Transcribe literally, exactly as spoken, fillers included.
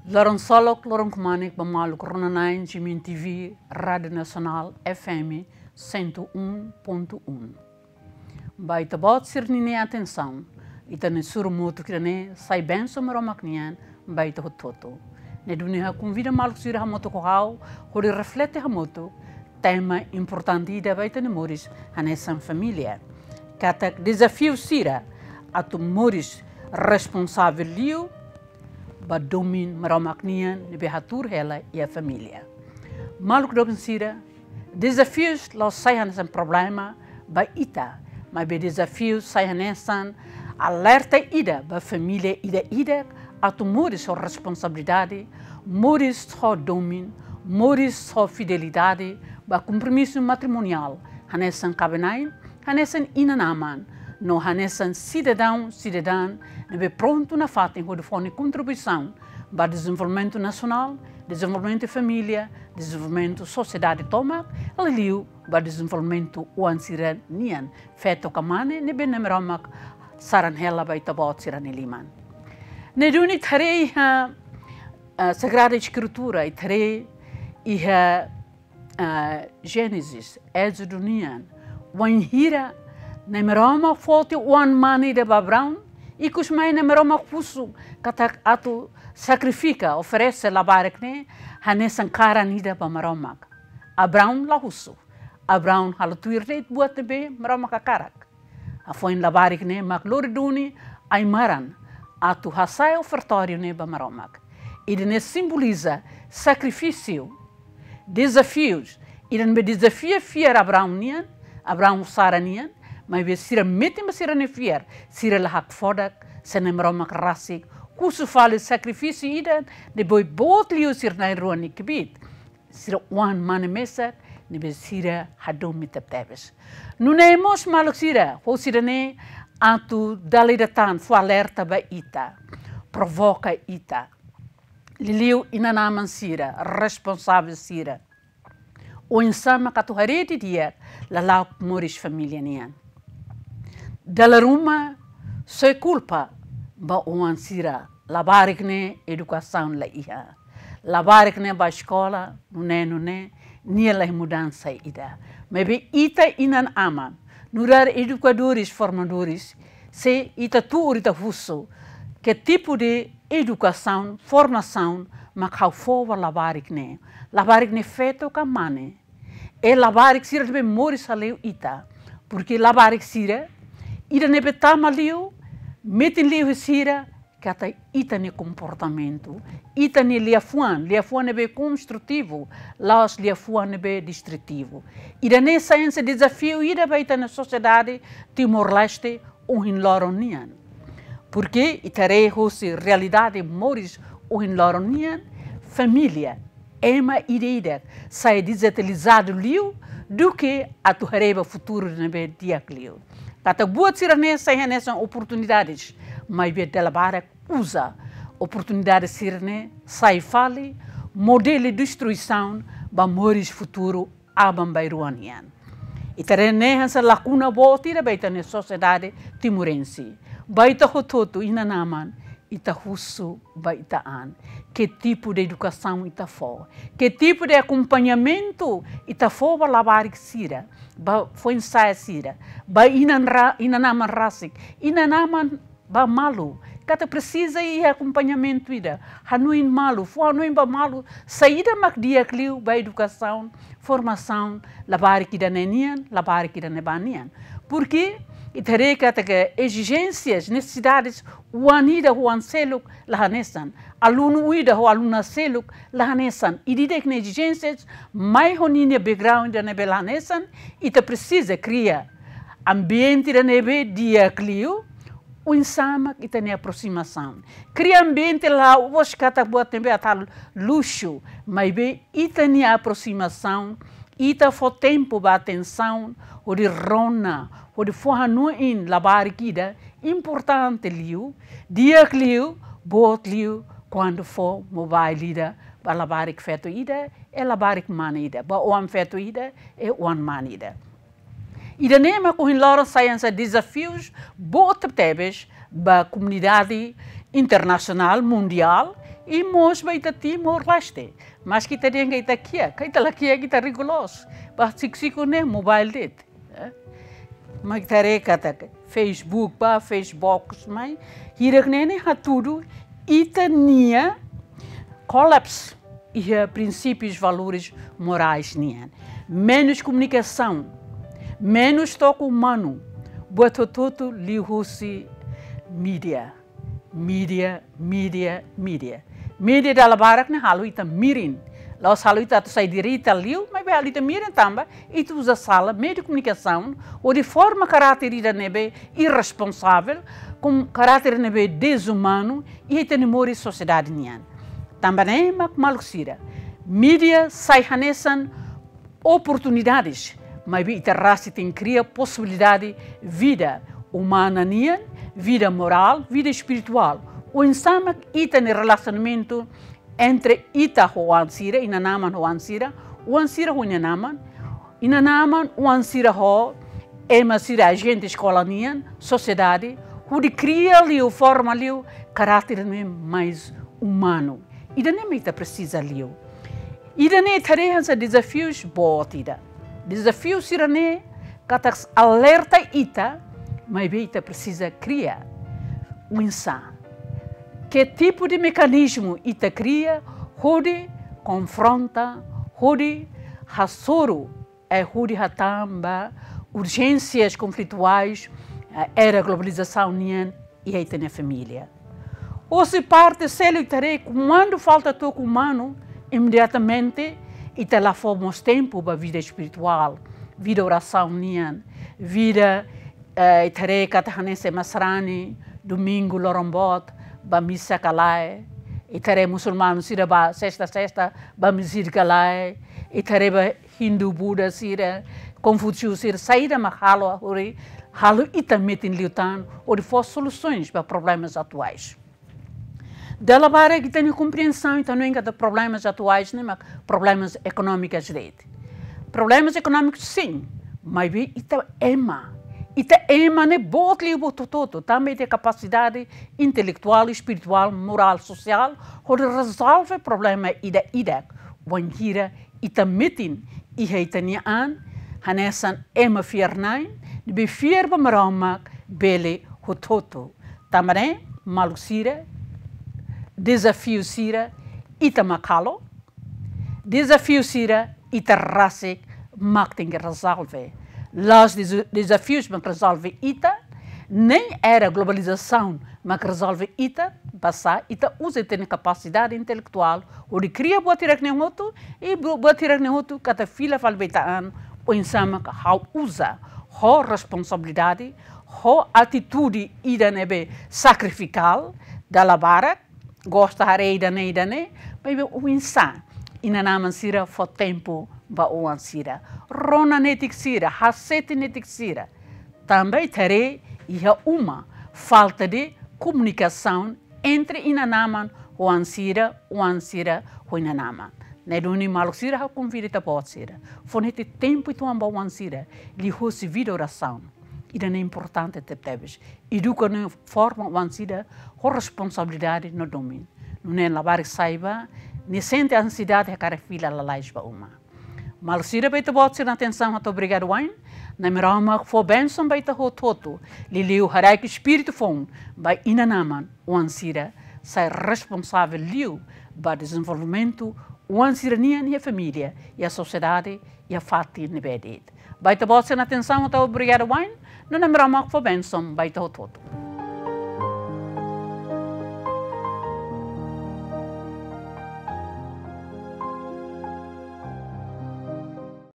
Loron solok, loron kmanek ba maluk rona-na'in G M N T V, Rádiu Nasionál F M cento e um ponto um. Ba ita-boot sira-nia atensaun, ita-nia suru motuk ida-ne'e sai bensaun Maromak nian ba ita hotu-hotu. Ne'e duni ha'u konvida maluk sira hamutuk ho ha'u, hodi reflete hamutuk tema importante ida ba ita-nia moris hanesan família. Katak dezafiu sira atu moris responsavel liu ba domin Maromak nian ne'ebé hatuur hela iha família. Maluk doben sira, dezafius la'ós sai hanesan problema ba ita, maibé dezafius sai hanesan alerta ida ba família ida-idak atu moris ho responsabilidade, moris ho domin, moris ho fidelidade ba kompromisu matrimoniál, hanesan kaben-na'in, hanesan inan-aman, no hanesan sidadaun, sidadán ne'ebé prontu nafatin hodi fó nia kontribuisaun ba dezenvolvimentu nasionál, dezenvolvimentu família, dezenvolvimentu sosiedade tomak, liuliu ba dezenvolvimentu oan sira-nian, feto ka mane, ne'ebé Nai Maromak saran hela ba ita-boot sira-nia liman. Ne'e duni ita haree iha, ah, Sagrada Eskritura, ita haree iha, ah, Génesis, Ézodu nian, wainhira Nai Maromak foti oan mane ida ba Abraão, ikus mai Nai Maromak husu katak atu sakrifika, oferese labarik ne'e hanesan karan ida ba Maromak. Abraão la husu. Abraão halo tuir de'it buat ne'ebé Maromak hakarak. Hafoin labarik ne'e mak lori duni ai-maran atu hasa'e ofertóriu ne'e ba Maromak. Ida-ne'e simboliza sakrifísiu, dezafius, ida ne'ebé dezafia fiar Abraão nian, Abraão ho Sara nian, maibé sira metin ba sira-nia fiar, sira la hakfodak, se Nai Maromak rasik husu fali sakrifísiu ida ne'ebé boot liu sira na'in-rua nia kbiit. Sira oan mane mesak, ne'ebé sira hadomi tebetebes. Nune'e mós maluk sira, husi ida-ne'e atu dala ida tan fó alerta ba ita, provoka ita. Liuliu inan-aman sira, responsavel sira. Oinsá mak atu haree didi'ak lala'ok moris família nian. Dala ruma, soe kulpa ba oan sira, labarik ne'e edukasaun la iha. Labarik ne'e bá eskola, nune'e, nune'e, nia la iha mudansa ida. Maibé ita inan-aman, nu'udar edukadores, formadores, se ita tuur ita husu, ke tipu de edukasaun, formasaun, mak ha'u fó ba labarik ne'e. Labarik ne'e feto ka mane. I labarik sira ne'ebé moris hale'u ita. Porke labarik sira, ida ne'ebé tama liu, metin liu iha sira, katak ita-nia komportamentu, ita-nia liafuan, liafuan ne'ebé konstrutivu, la'ós liafuan ne'ebé destrutivu. Ida-ne'e sai hanesan dezafiu ida ba ita-nia sosiedade Timor-Leste ohin loron nian. Porke ita haree hosi realidade moris ohin loron nian, família, ema ida-idak sai dezabilitadu liu duké atu haree ba futuru ne'ebé di'ak liu. Katak buat sira-ne'e sai hanesan oportunidades, maibé dala barak uza oportunidade sira-ne'e sai fali modelu destruisaun ba moris futuru aban-bainrua nian. Ita haree ne'e hanesan lakuna boot ida ba ita-nia sosiedade timorense. Ba ita hotu-hotu inan-aman, ita husu ba ita an. Ke tipu de edukasaun ita fó? Ke tipu de akompañamentu ita fó ba labarik sira, ba foin-sa'e sira, ba inan ra-, inan-aman rasik, inan-aman ba malu, katak presiza iha akompañamentu ida, hanoin malu, fó hanoin ba malu, saida mak di'ak liu ba edukasaun, formasaun, labarik ida-ne'e nian, labarik ida-ne'ebá nian. Porke ita haree katak ezijénsias, nesesidades, oan ida ho oan seluk la hanesan, alunu ida ho aluna seluk la hanesan, ida-idak nia ezijénsias, mai ho ninia background ida ne'ebé la hanesan, ita presiza kria ambiente ida ne'ebé di'ak liu, oinsá mak ita-nia aproximasaun. Kria ambiente la'ós katak buat ne'ebé atu luxu, maibé ita-nia aproximasaun, ita fó tempu ba atensaun, hodi rona, hodi fó hanoin labarik ida importante liu, di'ak liu, boot liu, kuandu fó mobile ida ba labarik feto ida, i labarik mane ida, ba oan feto ida, i oan mane ida. Ida-ne'e mak ohin loron sai hanesan dezafius boot tebes ba komunidade internasionál, mundiál, I mós ba ita Timor-Leste. Maske ita dehan katak ita kiak, ka ita la kiak, ita rigorozu. Ba siku-siku ne'e mobile de'it. Eh? Maibé ita haree katak Facebook ba, Facebook mai. Hirak ne'e ne'e hatudu ita-nia collapse iha prinsípius, valores morais nian. Menus komunikasaun, menus toque umanu, buat hotu-hotu liuhusi mídia. Mídia, mídia, mídia. Mídia dala barak ne'e halo ita mirin. La'ós halo ita atu sai direta liu, maibé halo ita mirin tanba ita uza sala meiu de komunikasaun hodi forma karáter ida ne'ebé irresponsavel, ho karáter ne'ebé dezumanu, iha ita-nia moris sosiedade nian. Tanba ne'e mak maluk sira, mídia sai hanesan oportunidades, maibé ita rasik tenke kria posibilidade vida umana nian, vida morál, vida espirituál. Oinsá mak ita-nia relasionamentu entre ita ho oan sira, inan-aman ho oan sira, oan sira ho inan-aman, inan-aman, oan sira ho ema sira, ajente eskola nian, sosiedade, hodi kria liu, forma liu karáter ne'e mais umanu. Ida-ne'e mak ita presiza liu. Ida-ne'e ita haree hanesan dezafius boot ida. Dezafiu sira-ne'e katak alerta ita, maibé ita presiza kria. Oinsá? Ke tipu de mekanizmu ita kria hodi konfronta, hodi hasoru, eh, hodi hatán ba urjénsias konflituais, eh, era globalizasaun nian iha ita-nia família. Hosi parte seluk ita haree, kuandu falta toque umanu, imediatamente ita la fó mós tempu ba vida espirituál, vida orasaun nian, vida, eh, ita haree katak hanesan ema sarani, domingu loron boot ba misa ka lae, ita haree musulmanu sira ba sesta-sesta ba mezit ka lae, ita haree ba Hindu, Buda sira, Konfusiu sira, saida mak halo hodi halo ita metin liután hodi fó solusaun ba problemas atuais. Dala barak ita-nia komprensaun, ita hanoin katak problemas atuais ne'e mak problemas ekonómikus de'it. Problemas ekonómikus sin, maibé ita ema. Ita ema ne'e boot liu, boot hotu-hotu. Tanba ita kapasidade intelektuál, espirituál, morál, sosiál, hodi rezolve problema ida-idak. Wainhira ita metin iha ita-nia an hanesan ema fiar-na'in, ne'ebé fiar ba Maromak bele hotu-hotu. Tanba ne'e, maluk sira, dezafiu sira ita mak halo, dezafiu sira ita rasik mak tenke rezolve. La'ós deza-, dezafius mak rezolve ita, nem era globalizasaun mak rezolve ita, basá ita uza ita-nia kapasidade intelektuál hodi kria buat hirak-ne'e hotu, i bu-, buat hirak-ne'e hotu katak fila fali ba ita an, oinsá mak ha'u uza ho responsabilidade, ho atitude ida ne'ebé sakrifikál, dala barak, gosta haree ida-ne'e, ida-ne'e, maibé oinsá inan-aman sira fó tempu ba oan sira, rona netik sira, hasete netik sira. Tanba ita haree iha uma falta de komunikasaun entre inan-aman ho oan sira, oan sira ho inan-aman. Ne'e duni maluk sira, ha'u konvida ita-boot sira, fó netik tempu uitoan ba oan sira, liuhosi vida orasaun. Ida-ne'e importante tebetebes. Eduka no forma oan sira ho responsabilidade no domin. Nune'e labarik sai ba, nia sente ansiedade hakarak fila lalais ba uma. Maluk sira, ba ita-boot sira-nia atensaun, hato'o obrigadu wa'in. Na'i Maromak fó bensaun ba ita hotu-hotu. Liuliu haraik espíritu foun ba inan-aman, oan sira sai responsavel liu ba dezenvolvimentu oan sira-nian iha família, iha sosiedade, iha fatin ne'ebé de'it. Ba ita-boot sira-nia atensaun, hato'o obrigadu wa'in. No Na'i Maromak fó bensaun ba ita hotu-hotu.